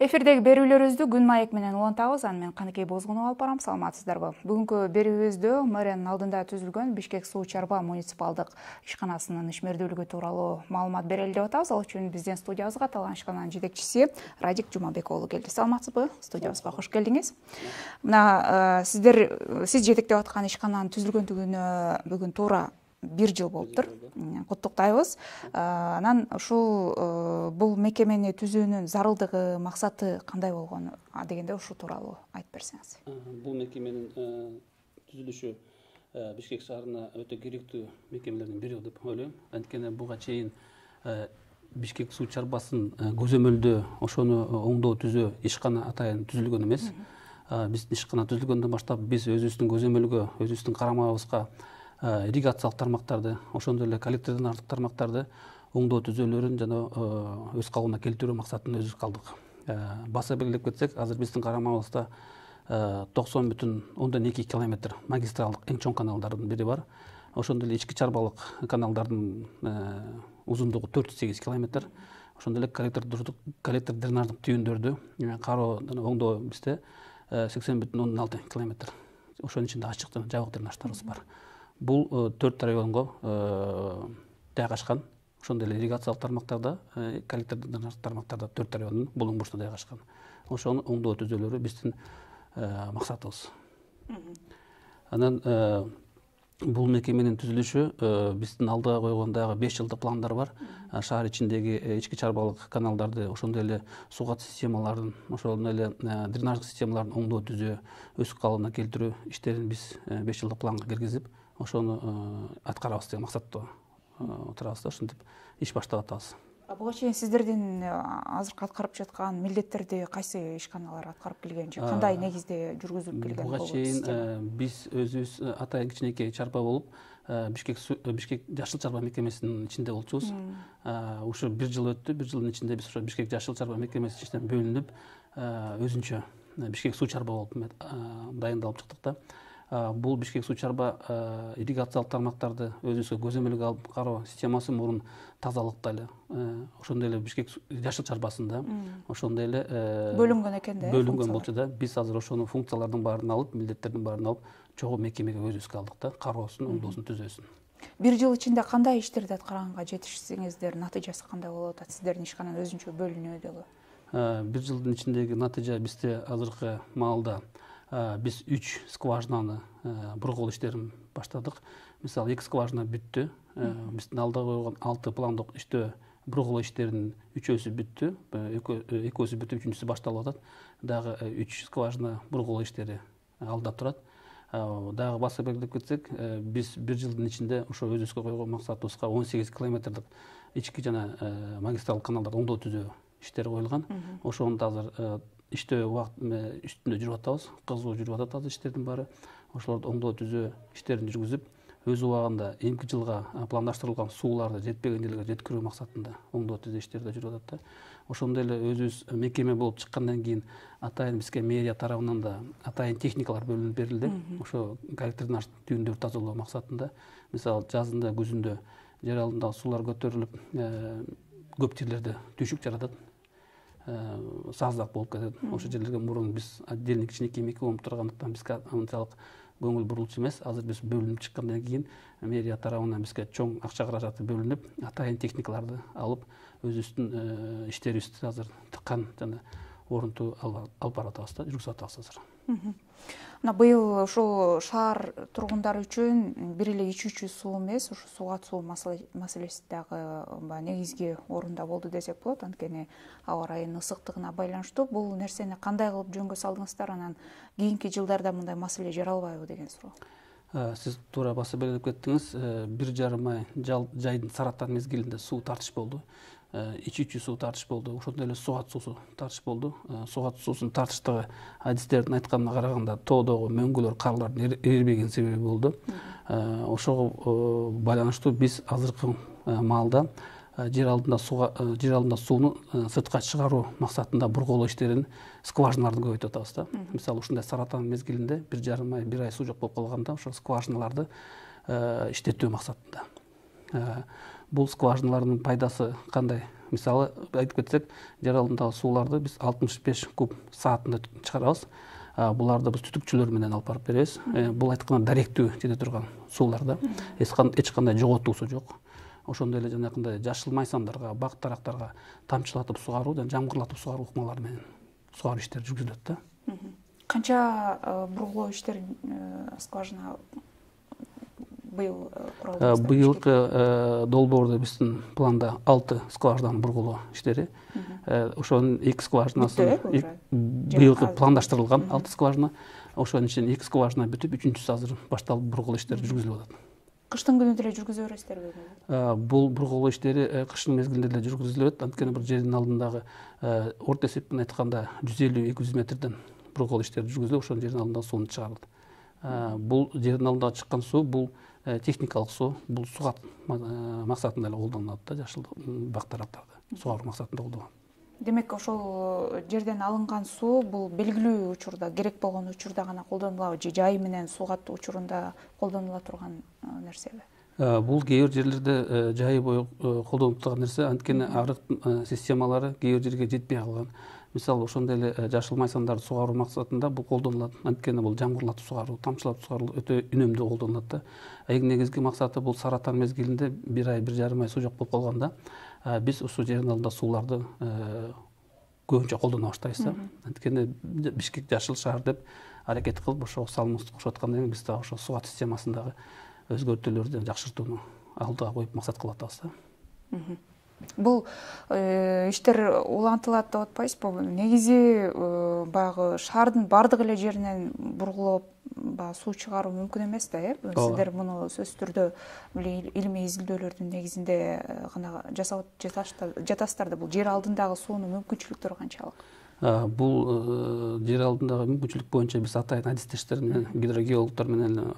Эфирдеги берүүлөрүбүздү күн маек менен улантабыз. Аны мен Каныкей Бозгунова алып барам. Саламатсыздарбы? Бүгүнкү берүүбүздө мэриянын алдында түзүлгөн Бишкек суу чарба муниципалдык ишканасынын ишмердүүлүгү тууралуу маалымат берели деп атабыз. Ал үчүн биздин студиябызга аталган ишкананын жетекчиси Радик Жумабек уулу келди. Саламатсызбы? Студиябызга кош келдиңиз. Мына сиз жетектеп аткан ишкананын түзүлгөндүгүнө бүгүн туура 1 жыл болуптур. Куттуктайбыз. Анан ушул бул мекемени түзүүнүн зарылдыгы, максаты кандай болгону дегенде ушул тууралуу айтып берсеңиз. Бул мекеменин түзүлүшү Бишкек шаарына өтө керектүү мекемелердин бири деп ойлойм. Анткени буга чейин Бишкек суу чарбасын көзөмөлдөө, ошону оңдоо түзөө ишкана атайын түзүлгөн эмес. Биздин ишкана түзүлгөндөн баштап биз өзүбүздүн көзөмөлгө, өзүбүздүн карамагыбызга ирригациялык тармактарды, ошондой эле коллектордон артык тармактарды оңдоо түзөөлөрүн жана өз калыбына келтирүү максатында өзүбүз калдык. Баса белгилеп кетсек, азыр биздин карамагыбызда 90,2 километр магистралдык эң чоң каналдардын бири бар. Ошондой эле ички чарбалык каналдардын узундугу 408 километр. Ошондой эле коллектор дренаждык түйүндөрдү кароо жана оңдоо бизде 80,6 километр. Ошонун ичинде ачык жана жабык дренаждарыбыз бар. Бул 4 районго жайгашкан. Ошондой эле ирригациялык тармактарда, коллектордун тармактарда 4 райондун булуң бурчуна жайгашкан. Ошонун оңдоо түзөөлөрү биздин максатыбыз. Анан бул мекеменин түзүлүшү биздин алдыга койгон дагы 5 жылдык пландар бар. Шаар ичиндеги ички чарбалык каналдарды, ошондой эле суу кат системаларын, ошондой эле дренаждык системаларын оңдоо түзөө, өз калыбына келтирүү иштерин биз 5 жылдык планга киргизип, ошону аткарабыз деген максатта отурабыз да, ошентип иш баштап атабыз. Буга чейин сиздердин азыркы аткарып жаткан милдеттерди кайсы ишканалар аткарып келген же кандай негизде жүргүзүлүп келген? Буга чейин биз өзүбүз атайын кичинекей чарба болуп, Бишкек жашыл чарба мекемесинин ичинде болчубуз. Ушу 1 жыл өттү. 1 жылдын ичинде биз ошо Бишкек жашыл чарба мекемесинин ичинен бөлүнүп, өзүнчө Бишкек суу чарба болуп дайындалып чыктык да. Бул Бишкек суу чарба ирригациялык тармактарды өзүбүзгө көзөмөлгө алып кароо системасы мурун тазалыкта эле, ошондой эле Бишкек жашыл чарбасында ошондой эле бөлүнгөн экен да. Бөлүнгөн болчу да. Биз азыр ошону функциялардын баарын алып, милдеттердин баарын алып, чогуу мекемеге өзүбүзгө алдык да, кароосун, оңдоосун түзөөсүн. 1 жыл ичинде кандай иштерди аткарганга жетишсеңиздер, натыйжасы кандай болуп атат? Сиздердин ишкананын өзүнчө бөлүнүүдөгү. 1 жылдын ичиндеги натыйжа бизде азыркы маалда биз 3 скважинаны бургул иштерин баштадык. Мисалы, 2 скважина бүттү. Биздин алдыга койгон 6 пландык иштөө бургул иштеринин 3-өсү бүттү. 2-өсү бүтүп, 3-үнчүсү башталып атат. Дагы 3 скважина бургул иштери алда турат. Дагы баса белгилеп кетсек, биз 1 жылдын ичинде ошо өзүбүзгө койгон максатыбызга 18 километрлик ички жана магистралдык каналдарды оңдоо түзөө иштери коюлган. Ошону азыр иштөө убакыт үстүндө жүрүп атабыз. Кызуу жүрүп атат азыр иштердин баары. Ошолорду оңдоо түзөө иштерин жүргүзүп, өз убагында эмки жылга пландаштырылган сууларды жетпеген жерлерге жеткирүү максатында оңдоо түзөө иштери да жүрүп атат да. Ошондой эле өзүбүз мекеме болуп чыккандан кийин атайын бизге мэрия тарабынан да атайын техникалар бөлүнүп берилди. Ошо коллектордун түйүндөрүн тазалоо максатында. Мисалы, жазында, күзүндө жер алдындагы суулар көтөрүлүп, көп жерлерде түйшүк жаратат. Саздак болуп кетет. Ошол жерлерге мурун биз отдельный кичинекей мекеме болуп тургандыктан бизге анчалык көңүл бурулчу эмес. Азыр биз бөлүнүп чыккандан кийин мэрия тарабынан бизге чоң акча каражаты бөлүнүп, атайын техникаларды алып, өзүбүздүн иштерибизди азыр тыккан жана орунтуу алып барып атабыз да, жүргүзүп атабыз азыр. Мына быйыл ушул шаар тургундары үчүн бир эле ичүүчү суу эмес, ушу суу кат суу маселеси дагы негизги орунда болду десек болот. Анткени аба ырайынын ысыктыгына байланыштуу. Бул нерсени кандай кылып жөнгө салдыңыздар? Анан кийинки жылдарда мындай маселе жаралбайбы деген суроо. Сиз туура баса белгилеп кеттиңиз. 1,5 ай жайдын саратан мезгилинде суу тартыш болду. Ичүүчү суу тартыш болду. Ошондой эле суу кат суусу тартыш болду. Суу кат суусунун тартыштыгы адистердин айтканына караганда тоодогу мөңгүлөр, карлардын эрибеген себеби болду. Ошого байланыштуу биз азыркы маалда жер алдында сууну сыртка чыгаруу максатында бургулоо иштерин, скважиналарды көбөйтүп атабыз да. Мисалы, ушундай саратан мезгилинде 1,5 ай, 1 ай суу жок болуп калганда, ошол скважиналарды иштетүү максатында. Бул скважиналардын пайдасы кандай мисалы айтып кетсек, жер алдындагы сууларды биз 65 куб саатында чыгарабыз. Буларды биз түтүкчүлөр менен алып барып беребиз. Бул айтканда даректүү жете турган суулар да. Эч кандай жоготуусу жок. Ошондой эле жанакындай жашыл майсандарга, бак дарактарга тамчылатып сугаруу жана жамгырлатып сугаруу ыкмалары менен сугаруу иштери жүргүзүлөт да. Канча бургулоо иштери скважина быйыл куралдыңыздар? Быйылкы долбоордо биздин планда 6 скважинаны бургулоо иштери. Ошонун 2 скважинасын быйылкы пландаштырылган 6 скважина. Ошонун ичинен 2 скважина бүтүп, 3-үчүсү азыр башталып бургулоо иштери жүргүзүлүп атат. Кыштын күнү деле жүргүзө бересиздерби? Бул бургулоо иштери кыштын мезгилинде деле жүргүзүлөт. Анткени бир жердин алдындагы орто эсеп менен айтканда 150-200 метрден бургулоо иштери жүргүзүлүп, ошонун жердин алдындагы сууну чыгарылат. Бул жердин алдындагы чыккан суу бул техникалык суу, бул сугат максатында эле колдонулат да, жашыл бак дарактарды сугаруу максатында колдонулат. Демек, ошол жерден алынган суу бул белгилүү учурда, керек болгон учурда гана колдонулабы же жай менен суугат учурунда колдонула турган нерсеби? Бул кээ бир жерлерде жайы бою колдонулуп турган нерсе, анткени арык системалары кээ бир жерге жетпей калган. Мисалы, ошондой эле жашыл майсандарды сугаруу максатында бул колдонулат. Анткени бул жамгырлатып сугаруу, тамчылатып сугаруу өтө үнөмдүү колдонулат да. Эң негизги максаты бул саратан мезгилинде 1 ай, 1,5 ай суу жок болуп калганда, биз ушул жердин алдында сууларды көбүнчө колдоно баштайбыз да. Анткени Бишкек жашыл шаар деп аракет кылып ошого салымыбызды кошуп аткандан кийин биз дагы ошо сугат системасындагы өзгөртүүлөрдү жакшыртууну алдыга коюп максат кылып атабыз да. Бул иштер улантылат деп атпайсызбы? Негизи баягы шаардын бардык эле жеринен бургулоп суу чыгаруу мүмкүн эмес да, Сиздер муну сөзсүз түрдө илимий изилдөөлөрдүн негизинде гана жасап жатасыздар да. Бул жер алдындагы суунун мүмкүнчүлүктөрү канчалык? Бул жер алдындагы мүмкүнчүлүк боюнча биз атайын адистештер менен, гидрогеологдор менен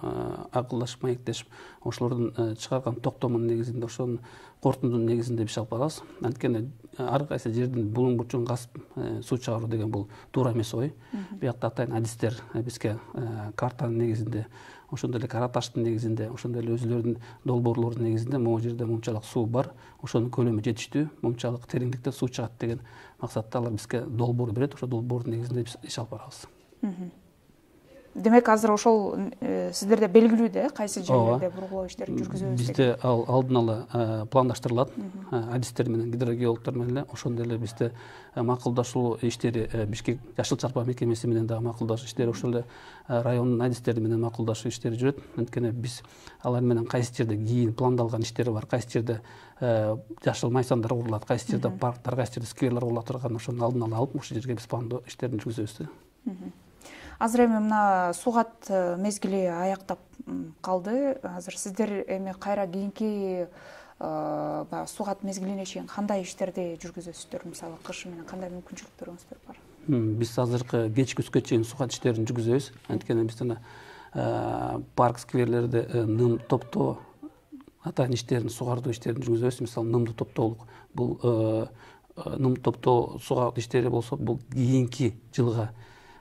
акылдашып, маектешип, ошолордун чыгарган токтомунун негизинде, ошонун корутундунун негизинде иш алып барабыз. Анткени ар кайсы жердин булуң бурчун касып суу чыгаруу деген бул туура эмес ой. Биякта атайын адистер бизге картанын негизинде, ошондой эле кара таштын негизинде, ошондой эле өзүлөрүнүн долбоорлордун негизинде могу жерде мынчалык суу бар, ошонун көлөмү жетиштүү, мынчалык тереңдикте суу чыгат деген максатта алар бизге долбоор берет. Ошол долбоордун негизинде биз иш алып барабыз. Демек, азыр ошол сиздерде белгилүү да, кайсы жерлерде бургулоо иштерин жүргүзөбүз? Бизде ал алдын ала пландаштырылат, адистер менен, гидрогеологдор менен эле. Ошондой эле бизде макулдашуу иштери Бишкек жашыл чарпа мекемеси менен дагы макулдашуу иштери, ошол эле райондун адистери менен макулдашуу иштери жүрөт. Анткени биз алар менен кайсы жерде кийин пландалган иштери бар, кайсы жерде жашыл майсандар курулат, кайсы жерде парктар, кайсы жерде скверлер курулат турган, ошонун алдын ала алып, ошол жерге биз пландоо иштерин жүргүзөбүз. Азыр эми мына сугат мезгили аяктап калды. Азыр сиздер эми кайра кийинки сугат мезгилине чейин кандай иштерди жүргүзөсүздөр? Мисалы, кыш менен кандай мүмкүнчүлүктөрүңүздөр бар? Биз азыркы кечки түскө чейин сугат иштерин жүргүзөбүз. Анткени биз парк, скверлерде ным топтоо атайын иштерин, сугардуу иштерин жүргүзөбүз. Мисалы, нымды топтоолук. Бул ным топтоо сугат иштери болсо, бул кийинки жылга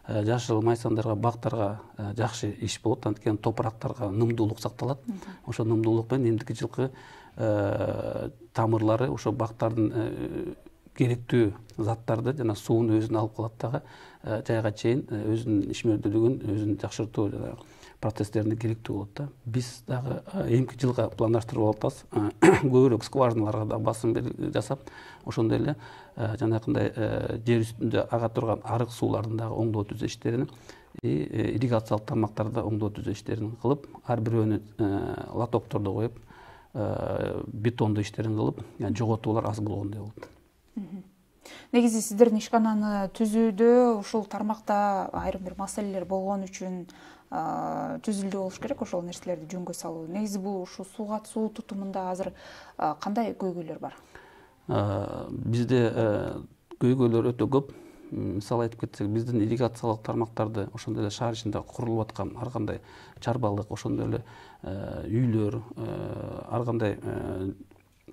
жашыл майсандарга, бактарга жакшы иш болот. Анткени топурактарга нымдуулук сакталат. Ошо нымдуулук менен эмдики жылкы тамырлары ошо бактардын керектүү заттарды жана сууну өзүнө алып калат дагы жайга чейин өзүнүн ишмердүүлүгүн, өзүн жакшыртуу процесстерине керектүү болот да. Биз дагы эмки жылга пландаштырып атабыз. Көбүрөөк скважиналарга да басым жасап, ошондой эле жанакындай жер үстүндө ага турган арык суулардын дагы оңдоо түзөө иштерин, ирригациялык тармактарды оңдоо түзөө иштерин кылып, ар бирөөнү лотокторду коюп, бетондоо иштерин кылып, жоготуулар аз болгондой болот. Негизи сиздердин ишкананы түзүүдө ушул тармакта айрым бир маселелер болгон үчүн түзүлдү болуш керек ошол нерселерди жөнгө салуу. Негизи бул ушу суу тутумунда азыр кандай көйгөйлөр бар? Бизде көйгөйлөр өтө көп. Мисалы айтып кетсек, биздин ирригациялык тармактарды ошондой эле шаар ичинде курулуп аткан ар кандай чарбалык, ошондой эле үйлөр, ар кандай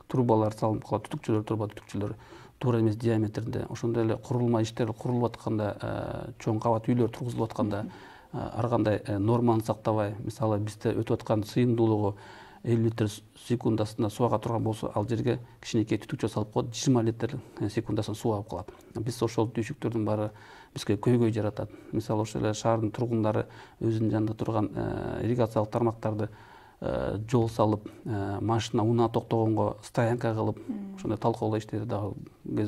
трубалар салынып калат, түтүкчүлөр туура эмес диаметринде, ошондой эле курулма иштери курулуп атканда, чоң кабат үйлөр тургузулуп атканда ар кандай норманы сактабай, мисалы бизде өтүп аткан сыйымдуулугу 50 литр секундасында суу ага турган болсо, ал жерге кичинекей түтүкчө салып коет, 20 литр секундасында суу алып калат. Биз ошол түйшүктөрдүн баары бизге көйгөй жаратат. Мисалы ошол эле шаардын тургундары өзүнүн жанында турган ирригациялык тармактарды жол салып, машина унаа токтогонго стоянка кылып, ошондой талкуулоо иштери дагы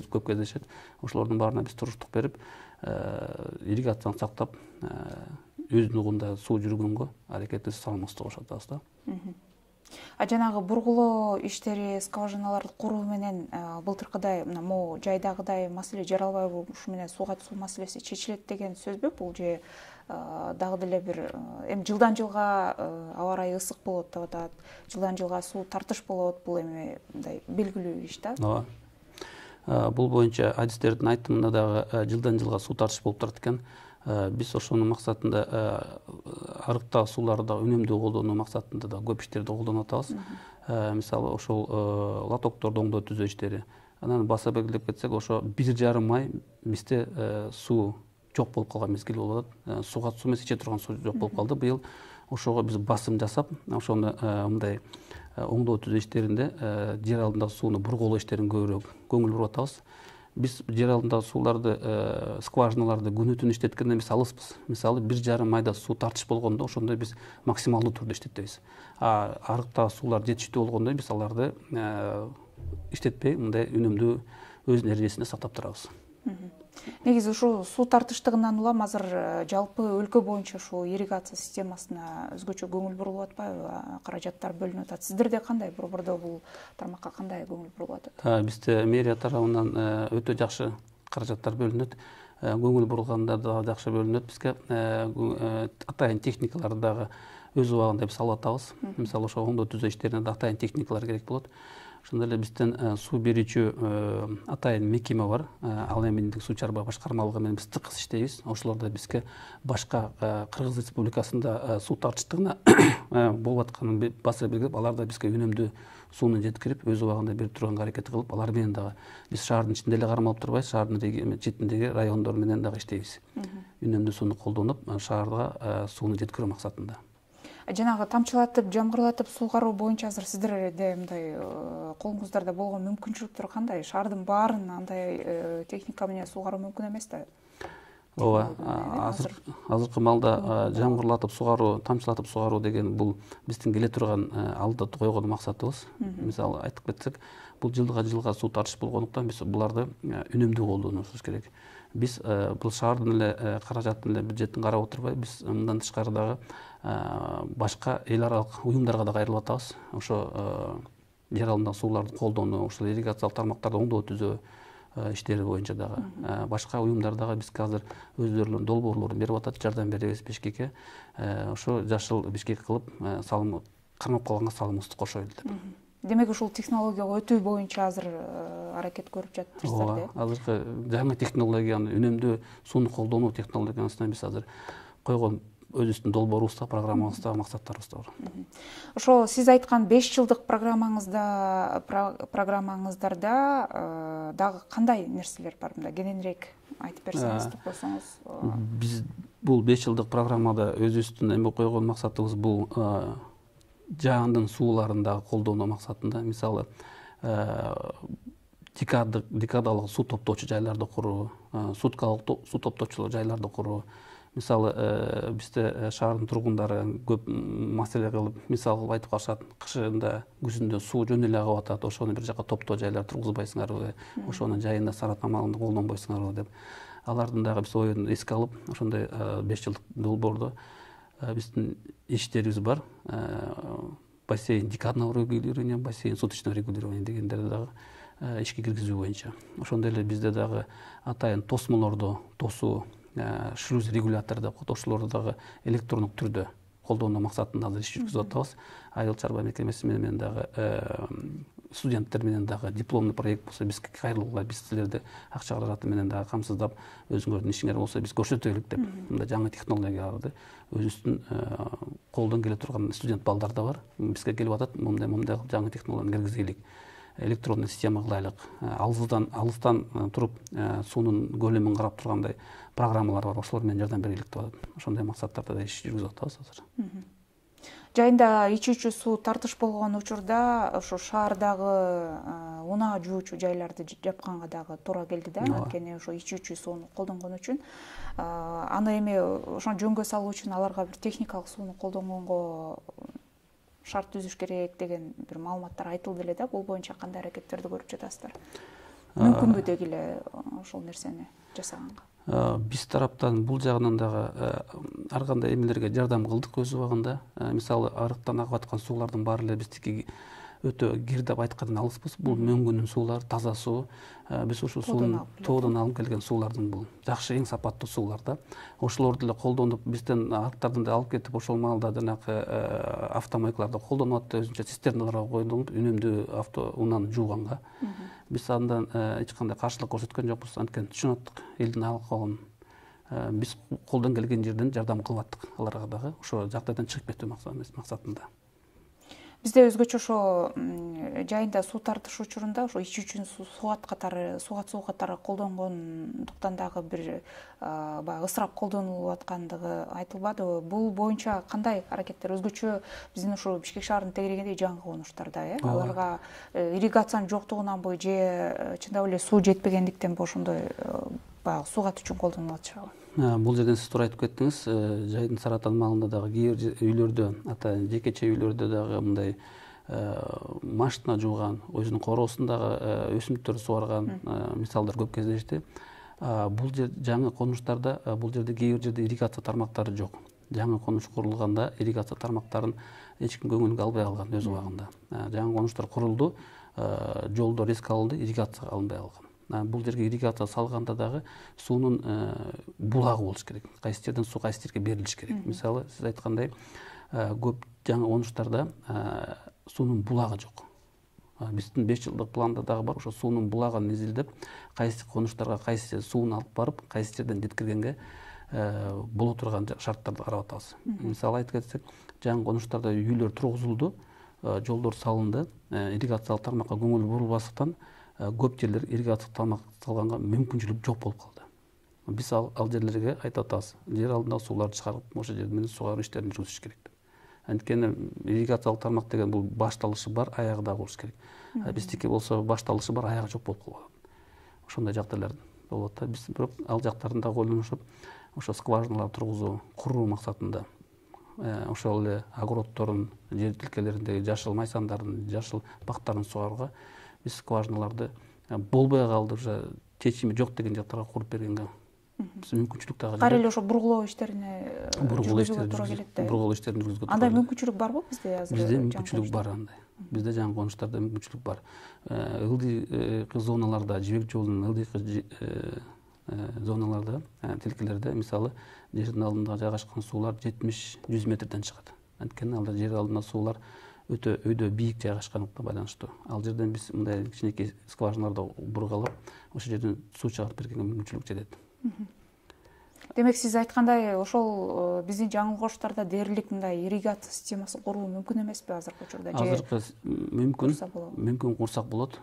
көп кездешет. Ошолордун баарына биз туруштук берип, ирригацияны сактап, өзүнүн угунда суу жүргөнгө аракетибиз саламыбызды кошуп атабыз да. Жанагы бургулоо иштери, скважиналарды куруу менен былтыркыдай мына могу жайдагыдай маселе жаралбайбы? Ушу менен сууга суу маселеси чечилет деген сөзбү бул же дагы деле бир эми жылдан жылга аба ырайы ысык болот деп атат, жылдан жылга суу тартыш болот, бул эми мындай белгилүү иш да. Ооба. Бул боюнча адистердин айтымында дагы жылдан жылга суу тартыш болуп турат экен. Биз ошонун максатында арыктаа сууларды үнөмдүү колдонуу максатында да көп иштерди колдонуп атабыз. Мисалы ошол лотокторду оңдоо түзөө иштери. Анан баса белгилеп кетсек, ошо 1,5 ай бизде суу жок болуп калган мезгил болуп атат. Сууга суу эмес, иче турган суу жок болуп калды. Быйыл ошого биз басым жасап, ошону мындай оңдоо түзөө иштеринде жер алдындагы сууну бургулоо иштерин көбүрөөк көңүл буруп атабыз. Биз жер алдындагы сууларды, скважиналарды күнү түнү иштеткенден биз алыспыз. Мисалы 1,5 айда суу тартыш болгондо ошондо биз максималдуу түрдө иштетебиз. Арыктагы суулар жетиштүү болгондо биз аларды иштетпей, мындай үнөмдүү өзүнүн эрежесинде сактап турабыз. Негизи ушул суу тартыштыгынан улам азыр жалпы өлкө боюнча ушул ирригация системасына өзгөчө көңүл бурулуп атпайбы? Каражаттар бөлүнүп атат. Сиздерде кандай, борбордо бул тармакка кандай көңүл бурулуп атат? Бизде мэрия тарабынан өтө жакшы каражаттар бөлүнөт. Көңүл бурулганда да жакшы бөлүнөт. Бизге атайын техникаларды дагы өз убагында биз алып атабыз. Мисалы ошол оңдоо түзөө иштерине да атайын техникалар керек болот. Ошондой эле бизден суу берүүчү атайын мекеме бар. Ал эминдик суу чарба башкармалыгы менен биз тыкыз иштейбиз. Ошолордо бизге башка Кыргыз Республикасында суу тартыштыгына болуп атканын баса белгилеп, алар да бизге үнөмдүү сууну жеткирип, өз убагында берип турганга аракет кылып, алар менен дагы биз шаардын ичинде эле кармалып турбайбыз, шаардын четиндеги райондор менен дагы иштейбиз. Үнөмдүү сууну колдонуп, шаарга сууну жеткирүү максатында. Жанагы тамчылатып, жамгырлатып суугаруу боюнча азыр сиздерде мындай колуңуздарда болгон мүмкүнчүлүктөр кандай? Шаардын баарын андай техника менен суугаруу мүмкүн эмес да? Ооба, азыркы маалда жамгырлатып суугаруу, тамчылатып суугаруу деген бул биздин келе турган алдыда койгон максатыбыз. Мисалы айтып кетсек, бул жылга суу тартыш болгондуктан биз буларды үнөмдүү колдонушубуз керек. Биз бул шаардын эле каражатын эле бюджетин карап отурбай, биз мындан тышкары дагы башка эл аралык уюмдарга да кайрылып атабыз. Ошо жер алдындагы сууларды колдонуу, ошол ирригациялык тармактарды оңдоо түзөө иштери боюнча дагы башка уюмдар дагы бизге азыр өздөрүнүн долбоорлорун берип атат, жардам беребиз Бишкекке. Ошо жашыл Бишкек кылып салым кармап калганга салымыбызды кошойлу деп. Демек ушул технологияга өтүү боюнча азыр аракет көрүп жатырсыздар да? Ооба, азыркы жаңы технологияны, үнөмдүү сууну колдонуу технологиясына биз азыр койгон өзүбүздүн долбоорубузда, программабызда, максаттарыбызда бар. Ошо сиз айткан 5 жылдык программаңыздарда дагы кандай нерселер бар? Мында кененирээк айтып берсеңиз, токтосоңуз. Биз бул 5 жылдык программада өзүбүздүн эме койгон максатыбыз бул жаандын сууларын дагы колдонуу максатында. Мисалы декадалык суу топтоочу жайларды куруу, суткалык суу топтоочу жайларды куруу. Мисалы бизде шаардын тургундары көп маселе кылып, мисал кылып айтып калышат, кышында, күзүндө суу жөн эле агып атат, ошону бир жака топтоо жайлар тургузбайсыңарбы, ошонун жайында саратамалыгын колдонбойсуңарбы деп. Алардын дагы биз оюн эске алып, ошондой 5 жылдык долбоордо биздин иштерибиз бар. Бассейн декадного регулирования, бассейн суточного регулирования дегендерди дагы ишке киргизүү боюнча. Ошондой эле бизде дагы атайын тосмолорду тосуу, шлюз регулятор деп коет, ошолорду дагы электрондук түрдө колдонуу максатында азыр иш жүргүзүп атабыз. Айыл чарба мекемеси менен дагы студенттер менен дагы дипломный проект болсо бизге кайрылгыла, биз силерди акча каражаты менен дагы камсыздап, өзүңөрдүн ишиңер болсо биз көрсөтөлүк деп, мындай жаңы технологияларды өзүбүздүн колдон келе турган студент балдар да бар. Бизге келип атат, мындай жаңы технологияны киргизелик, электрондуу система кылайлык, алыстан туруп суунун көлөмүн карап тургандай программалар бар, ошолор менен жардам берелик деп атат. Ошондой максаттарда да иш жүргүзүп атабыз азыр. Жайында ичүүчү суу тартыш болгон учурда ошо шаардагы унаа жуучу жайларды жапканга дагы туура келди да, анткени ошо ичүүчү сууну колдонгон үчүн аны эми ошону жөнгө салуу үчүн аларга бир техникалык сууну колдонгонго шарт түзүш керек деген бир маалыматтар айтылды эле да. Бул боюнча кандай аракеттерди көрүп жатасыздар? Мүмкүнбү деги эле ошол нерсени жасаганга? Биз тараптан бул жагынан дагы ар кандай эмелерге жардам кылдык өз убагында. Мисалы, арыктан агып аткан суулардын баары эле биздики өтө кир деп айткандан алыспыз. Бул мөңгүнүн суулары, таза суу. Биз ушул сууну тоодон алып келген суулардын бул жакшы, эң сапаттуу суулар да. Ошолорду эле колдонуп, бизден арыктардан да алып кетип, ошол маалда жанагы автомойкаларда колдонуп атты, өзүнчө цистерналарга коюлуп, үнөмдүү унааны жууганга. Биз андан эч кандай каршылык көрсөткөн жокпуз, анткени түшүнүп аттык элдин алкагын. Биз колдон келген жерден жардам кылып аттык аларга дагы, ошо жагдайдан чыгып кетүү максатында. Бизде өзгөчө ошо жайында суу тартыш учурунда ошо ичүүчү сугат суу катары колдонгондуктан дагы бир баягы ысырап колдонулуп аткандыгы айтылбадыбы? Бул боюнча кандай аракеттер? Өзгөчө биздин ошо Бишкек шаарынын тегерегиндеги жаңы конуштарда, аларга ирригациянын жоктугунанбы же чындап эле суу жетпегендиктенби ошондой баягы суугат үчүн колдонулуп атышабы? Бул жерден сиз туура айтып кеттиңиз. Жайдын Саратан маалында дагы кээ бир үйлөрдө, атайын жекече үйлөрдө дагы мындай машина жууган, өзүнүн короосундагы өсүмдүктөрдү сугарган мисалдар көп кездешти. Бул жер жаңы конуштарда, бул жерде кээ бир жерде ирригация тармактары жок. Жаңы конуш курулганда ирригация тармактарын эч ким көңүлгө албай калган өз убагында. Жаңы конуштар курулду, жолдор эске алынды, ирригация алынбай калган. Бул жерге ирригация салганда дагы суунун булагы болуш керек. Кайсы жерден суу кайсы жерге берилиш керек. Мисалы, сиз айткандай, көп жаңы конуштарда суунун булагы жок. Биздин 5 жылдык планда дагы бар, ошо суунун булагын изилдеп, кайсы конуштарга кайсы сууну алып барып, кайсы жерден жеткиргенге боло турган шарттарды карап атабыз. Мисалы айтып кетсек, жаңы конуштарда үйлөр тургузулду, жолдор салынды, ирригациялык тармакка көңүл бурулбастыктан көп жерлер ирригациялык тармак салганга мүмкүнчүлүк жок болуп калды. Биз ал жерлерге айтып атабыз, жер алдындагы сууларды чыгарып, ошол жерде менен сугаруу иштерин жүргүзүш керек деп. Анткени ирригациялык тармак деген бул башталышы бар, аягы да болуш керек. Биздики болсо башталышы бар, аягы жок болуп калган. Ошондой жагдайлар болот да. Биз бирок ал жактарын да ойлонушуп, ошо скважиналар тургузуу, куруу максатында ошол эле огороддордун жер тилкелериндеги жашыл майсандардын, жашыл бактарын сугарууга биз скважиналарды болбой калды, уже чечими жок деген жактарга куруп бергенге биз мүмкүнчүлүк дагы кайра эле ошо бургулоо иштерине жүргүзүүгө туура келет да. Бургулоо иштерин жүргүзүүгө туура. Андай мүмкүнчүлүк барбы бизде азыр? Бизде мүмкүнчүлүк бар андай. Бизде жаңы конуштарда мүмкүнчүлүк бар. Ылдый зоналарда, жибек жолунун ылдый зоналарда, тилкелерде, мисалы, жердин алдында жайгашкан суулар 70-100 метрден чыгат. Анткени алда жер алдында суулар өтө өйдө бийик жайгашкандыкка байланыштуу. Ал жерден биз мындай кичинекей скважиналарды бургалап, ошол жерден суу чыгарып бергенге мүмкүнчүлүк жетет. Демек, сиз айткандай, ошол биздин жаңы коштарда дээрлик мындай ирригация системасын куруу мүмкүн эмеспи азыркы учурда? Азыркы мүмкүн курсак болот.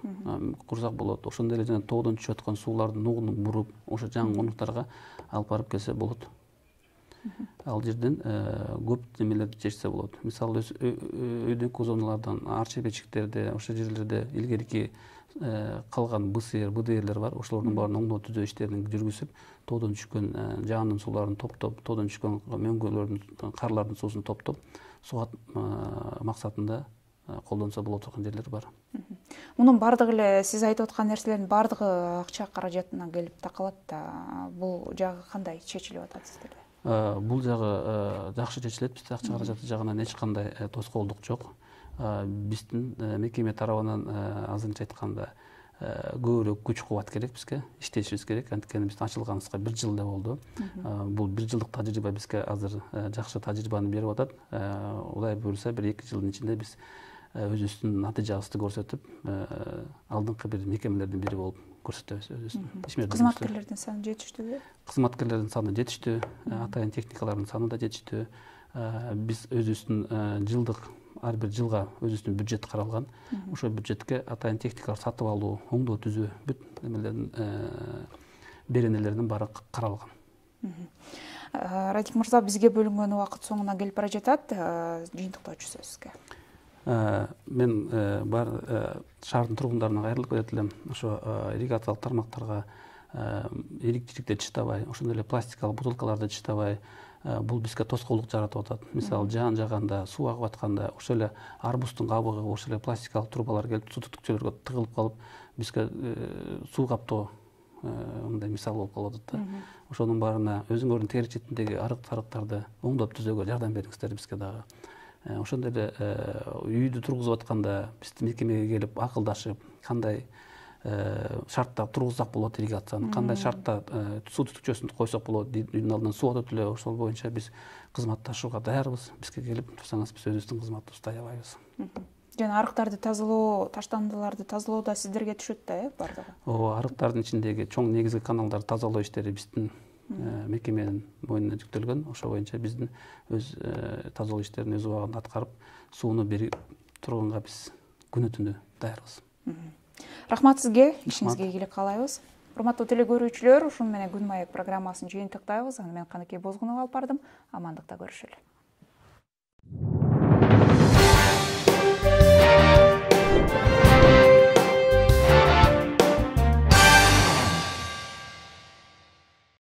Ошондой эле жана тоодон түшүп аткан суулардын нугун буруп, ошо жаңы конуштарга алып барып келсе болот. Ал жерден көп немелерди чечсе болот. Мисалы, өйдөңкү зоналардан, арча бечиктерде, ошол жерлерде илгерки калган БСР, БДРлер бар. Ошолордун баарын оңдоо түзөө иштерин жүргүзүп, тоодон түшкөн жаандын сууларын топтоп, тоодон түшкөн мөңгөлөрдүн, карлардын суусун топтоп, сугат максатында колдонсо боло турган жерлер бар. Мунун бардыгы эле сиз айтып аткан нерселердин бардыгы акча каражатынан келип такалат да. Бул жагы кандай чечилип атат сиздерде? Бул жагы жакшы чечилет. Бизде акча каражаты жагынан эч кандай тоскоолдук жок. Биздин мекеме тарабынан азырынча айтканда көбүрөөк күч кубат керек бизге, иштешибиз керек. Анткени биздин ачылганыбызга 1 жыл эле болду. Бул 1 жылдык тажрыйба бизге азыр жакшы тажрыйбаны берип атат. Кудай буйруса, 1-2 жылдын ичинде биз өзүбүздүн натыйжабызды көрсөтүп, алдыңкы бир мекемелердин бири болуп көрсөтөбүз өзүбүздүн. Кызматкерлердин саны жетиштүүбү? Кызматкерлердин саны жетиштүү, атайын техникалардын саны да жетиштүү. Биз өзүбүздүн жылдык ар бир жылга өзүбүздүн бюджет каралган. Ошол бюджетке атайын техникалар сатып алуу, оңдоо түзүү бүт немелердин беренелеринин баары каралган. Радик мырза, бизге бөлүнгөн убакыт соңуна келип бара жатат. Жыйынтыктоочу сөз сизге. Мен бар шаардын тургундарына кайрылып кетет элем. Ошо ирригациялык тармактарга ийгиликчиликти чыштабай, ошондой эле пластикалык бутылкаларды чыштабай, бул бизге тоскоолдук жаратып атат. Мисалы, жаан жааганда, суу агып атканда, ошо эле арбуздун кабыгы, ошо эле пластикалык трубалар келип суу түтүкчөлөргө тыгылып калып, бизге суу каптоо мындай мисал болуп калып атат да. Ошонун баарына өзүңөрдүн тегерек четиндеги арыктарды оңдоп түзөөгө жардам бериңиздер бизге дагы. Ошондой эле үйдү тургузуп атканда биздин мекемеге келип акылдашып, кандай шартта тургузсак болот ирригацияны, кандай шартта суу түтүкчөсүн койсок болот, үйдүн алдынан суу өтөт эле, ошол боюнча биз кызматташууга даярбыз. Бизге келип турсаңыз, биз өзүбүздүн кызматыбызды аябайбыз. Жана арыктарды тазалоо, таштандыларды тазалоо да сиздерге түшөт да, бардыгы? Ооба, арыктардын ичиндеги чоң негизги каналдарды тазалоо иштери биздин мекеменин мойнуна жүктөлгөн. Ошо боюнча биздин өз тазалоо иштерин өз убагында аткарып, сууну берип турганга биз күнү түнү даярбыз. Рахмат сизге, ишиңизге ийгилик каалайбыз. Урматтуу теле көрүүчүлөр, ушуну менен Күн маек программасын жыйынтыктайбыз. Аны мен Каныкей Бозгунова алып бардым. Амандыкта көрүшөлү.